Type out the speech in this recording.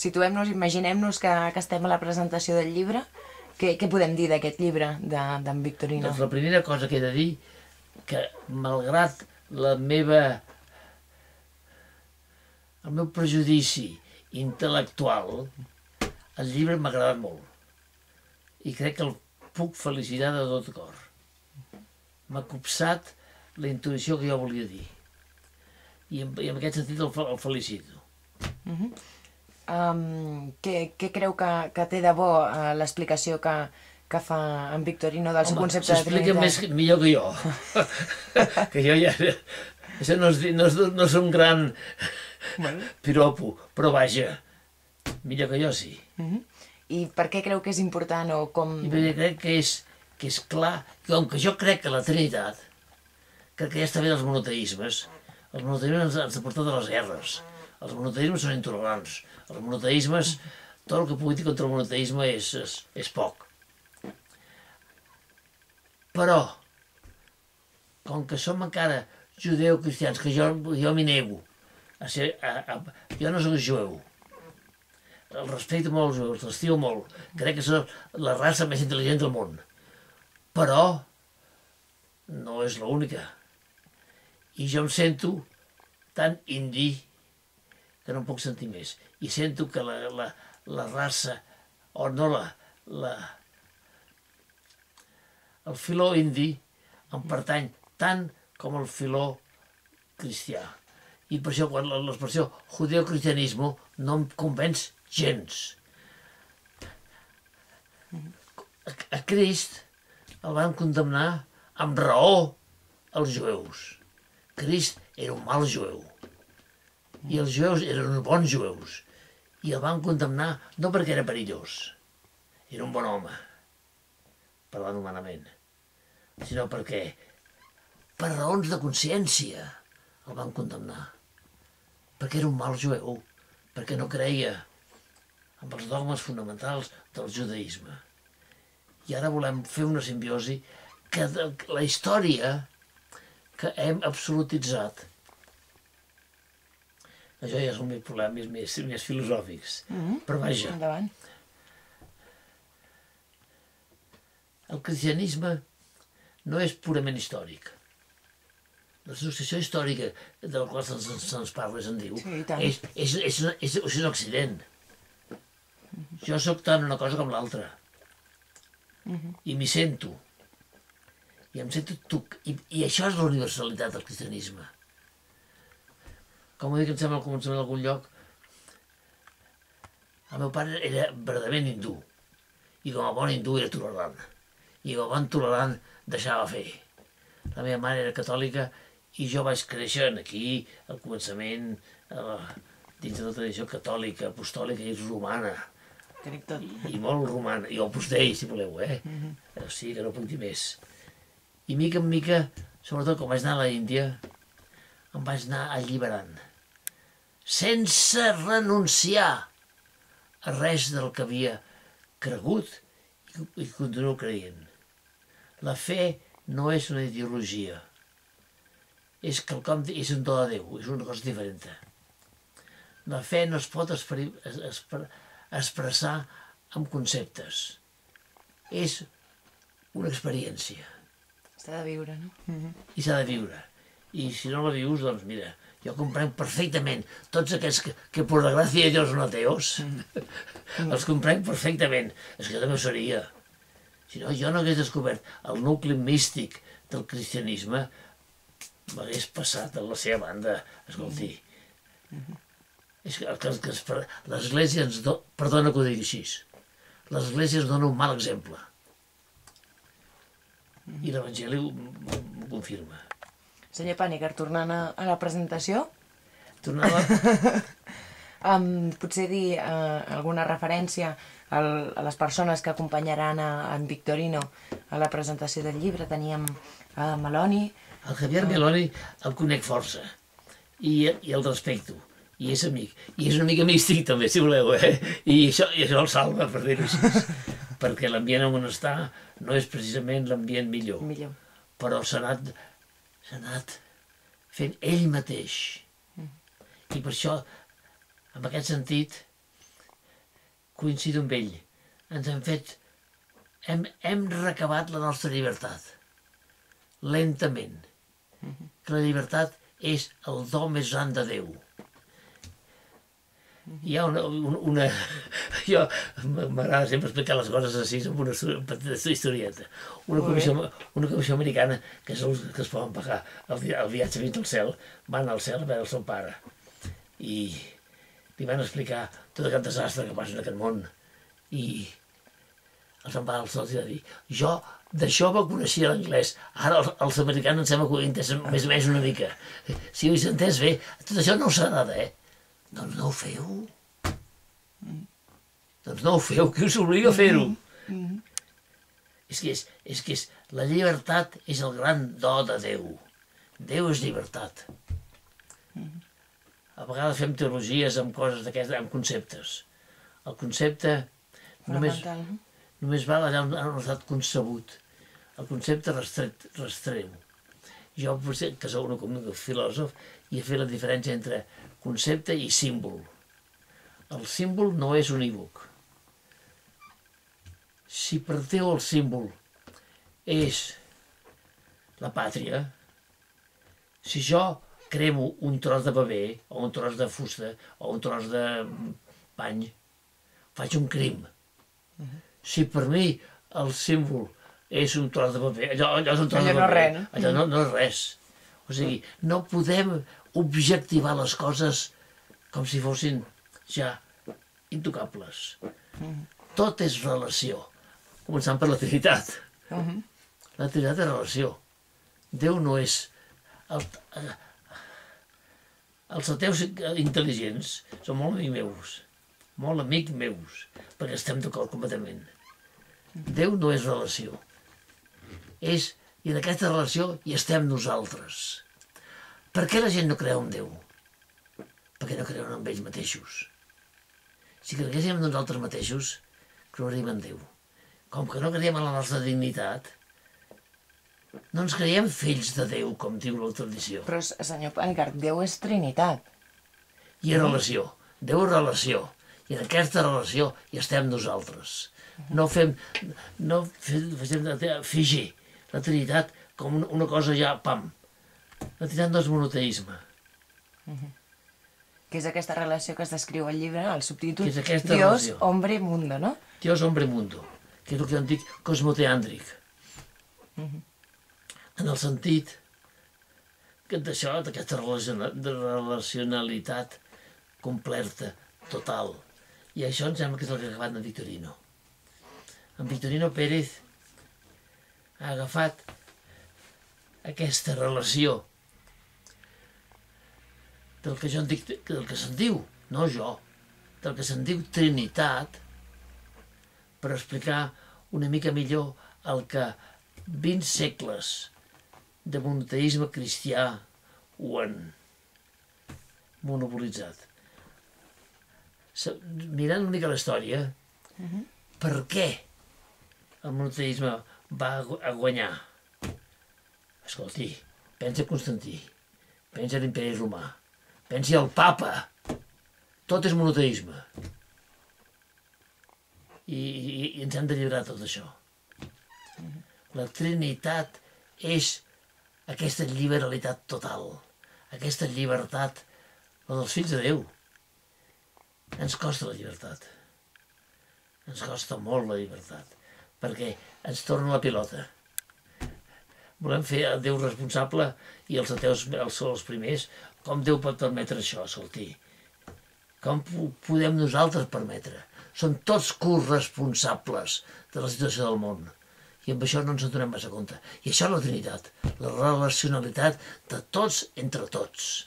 situem-nos, imaginem-nos que estem a la presentació del llibre. Què podem dir d'aquest llibre d'en Victorino? Doncs la primera cosa que he de dir, que malgrat el meu prejudici intel·lectual, el llibre m'ha agradat molt. I crec que el puc felicitar de tot cor. M'ha copsat la intuïció que jo volia dir. I en aquest sentit el felicito. Què creu que té de bo l'explicació que fa en Victorino del seu concepte de Trinitat? S'explica millor que jo. Que jo ja... Això no és un gran piropo, però vaja, millor que jo sí. I per què creu que és important o com... I perquè crec que és clar, com que jo crec que la Trinitat, crec que ja està bé dels monoteismes. Els monoteismes ens han portat a les guerres. Els monoteismes són intolerants. Els monoteismes, tot el que pugui dir contra el monoteisme és poc. Però, com que som encara judeu-cristians, que jo m'hi nego, jo no soc jueu, el respecto molt als jueus, l'estimo molt, crec que són la raça més intel·ligent del món, però no és l'única. I jo em sento tan indi que no em puc sentir més. I sento que la raça, o no el filó indi em pertany tant com el filó cristià. I per això quan l'expressió judeo-cristianisme no em convenç gens. A Crist el van condemnar amb raó els jueus. Crist era un mal jueu. I els jueus eren uns bons jueus. I el van condemnar no perquè era perillós, era un bon home, parlant humanament, sinó perquè, per raons de consciència, el van condemnar. Perquè era un mal jueu, perquè no creia en els dogmes fonamentals del judaïsme. I ara volem fer una simbiosi que la història que hem absolutitzat. Això ja són més problemes més filosòfics. Però vaja. Endavant. El cristianisme no és purament històric. La successió històrica de la qual se'ns parla, se'n diu, és un accident. Jo sóc tant una cosa com l'altra. I m'hi sento. I em sento... I això és la universalitat del cristianisme. Com ho dic, em sembla al començament d'algun lloc, el meu pare era verdaderament hindú, i com a bon hindú era tolerant, i com a bon tolerant deixava fer. La meva mare era catòlica i jo vaig créixer aquí, al començament, dins de la tradició catòlica, apostòlica i romana. I molt romana, i apostell, si voleu, O sigui que no puc dir més. I mica en mica, sobretot quan vaig anar a l'Índia, em vaig anar alliberant, sense renunciar a res del que havia cregut i continuo creient. La fe no és una ideologia, és quelcom, és un do de Déu, és una cosa diferent. La fe no es pot expressar amb conceptes, és una experiència. S'ha de viure, no? I s'ha de viure. I si no la vius, doncs mira, jo comprenc perfectament tots aquests que por la gràcia de Dios no ateos, els comprenc perfectament. És que jo també ho seria. Si no, jo no hagués descobert el nucli místic del cristianisme, m'hagués passat a la seva banda. Escolti, és que l'Església ens dona, perdona que ho digui així, l'Església ens dona un mal exemple. I l'Evangeli ho confirma. Senyor Paniker, tornant a la presentació, potser dir alguna referència a les persones que acompanyaran en Victorino a la presentació del llibre. Teníem Meloni. El Javier Meloni el conec força i el respecto. I és amic. I és una mica místic també, si voleu, I això el salva, per dir-ho així. Perquè l'ambient on està no és precisament l'ambient millor. Però s'ha anat fent ell mateix. I per això, en aquest sentit, coincido amb ell. Ens hem fet... Hem recabat la nostra llibertat. Lentament. Que la llibertat és el do més gran de Déu. Hi ha una... Jo m'agrada sempre explicar les coses així amb una petita historieta. Una comissió americana que es poden pagar el viatge fins al cel, van al cel a veure el seu pare i li van explicar tot aquest desastre que passa en aquest món i els van pagar el cel i va dir jo de jove coneixia l'anglès, ara els americans em sembla que ho entenen més o menys una mica. Si ho he entès bé, tot això no us agrada, doncs no ho feu. Doncs no ho feu, qui us obliga a fer-ho? És que la llibertat és el gran do de Déu. Déu és llibertat. A vegades fem teologies amb coses d'aquestes, amb conceptes. El concepte només val allà on ha estat concebut. El concepte restreu. Jo, que sóc un filòsof, i he fet la diferència entre concepte i símbol. El símbol no és unívoc. Si per Déu el símbol és la pàtria, si jo cremo un tros de paper, o un tros de fusta, o un tros de pany, faig un crim. Si per mi el símbol és un tros de paper, allò és un tros de paper, allò no és res. O sigui, no podem objectivar les coses com si fossin ja intocables. Tot és relació, començant per la Trinitat. La Trinitat és relació. Déu no és... Els ateus intel·ligents són molt amics meus, perquè estem d'acord completament. Déu no és relació. I en aquesta relació hi estem nosaltres. Per què la gent no creu en Déu? Perquè no creuen en ells mateixos. Si creguéssim en nosaltres mateixos, creuríem en Déu. Com que no creiem en la nostra dignitat, no ens creiem fills de Déu, com diu la tradició. Però, senyor Panicart, Déu és Trinitat. I és relació. Déu és relació. I en aquesta relació hi estem nosaltres. No fem fingir la Trinitat com una cosa ja, pam. La Trinitat no és monoteisme. Que és aquesta relació que es descriu al llibre, al subtítol Dios, relació? Hombre, mundo, no? Dios, hombre, mundo, que és el que en dic cosmoteàndric. En el sentit d'això, d'aquesta relacionalitat completa, total. I això em sembla que és el que ha agafat en Victorino. En Victorino Pérez ha agafat aquesta relació del que jo en dic, del que se'n diu, no jo, del que se'n diu Trinitat, per explicar una mica millor el que 20 segles de monoteisme cristià ho han monopolitzat. Mirant una mica la història, per què el monoteisme va a guanyar? Escolti, pensa Constantí, pensa l'Imperi Romà, pensi al papa, tot és monoteisme. I ens hem de lliurar tot això. La Trinitat és aquesta liberalitat total, aquesta llibertat, la dels fills de Déu. Ens costa la llibertat. Ens costa molt la llibertat, perquè ens torna la pilota. Volem fer a Déu responsable i els ateus són els primers. Com Déu pot permetre això, escolti? Com podem nosaltres permetre? Són tots corresponsables de la situació del món. I amb això no ens en donem massa compte. I això és la Trinitat, la relacionalitat de tots entre tots.